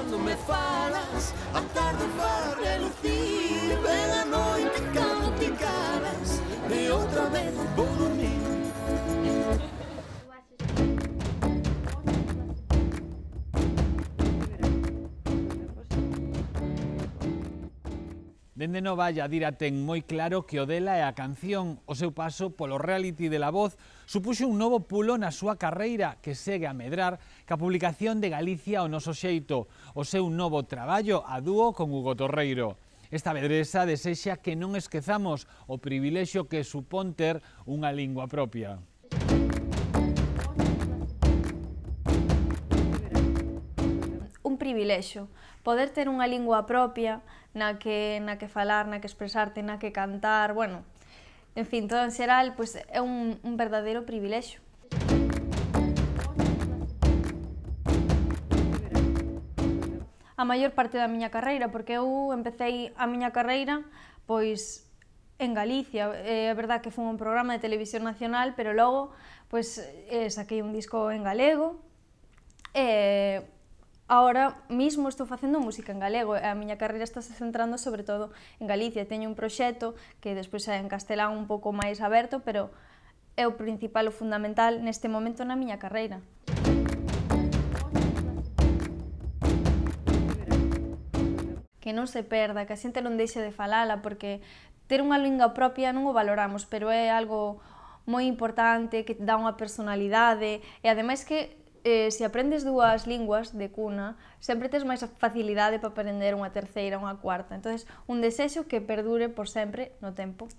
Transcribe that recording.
cando me falas, a tarde vai relucir, ven a noite cando te calas, e outra vez vou dormir. Dende Novalla, Dira ten moi claro que o dela é a canción. O seu paso polo reality de La Voz supuxo un novo pulo na súa carreira que segue a medrar ca publicación de Galicia ao noso xeito, o seu novo traballo a dúo con Hugo Torreiro. Esta vedresa desexa que non esquezamos o privilexio que supón ter unha lingua propia. Un privilexio, poder ter unha lingua propia na que falar, na que expresarte, na que cantar, bueno, en fin, todo en xeral, pois é un verdadeiro privilexio. A maior parte da miña carreira, porque eu empecé a miña carreira pois en Galicia. É verdad que foi un programa de televisión nacional, pero logo pois saquei un disco en galego e agora mismo estou facendo música en galego e a miña carreira está se centrando sobre todo en Galicia. Teño un proxecto que despois é en castelán un pouco máis aberto, pero é o principal, o fundamental neste momento na miña carreira. Que non se perda, que a xente non deixe de falala, porque ter unha lingua propia non o valoramos, pero é algo moi importante, que dá unha personalidade e ademais que se aprendes dúas linguas de cuna, sempre tes máis facilidade para aprender unha terceira, unha cuarta. Entón, un desexo que perdure por sempre no tempo.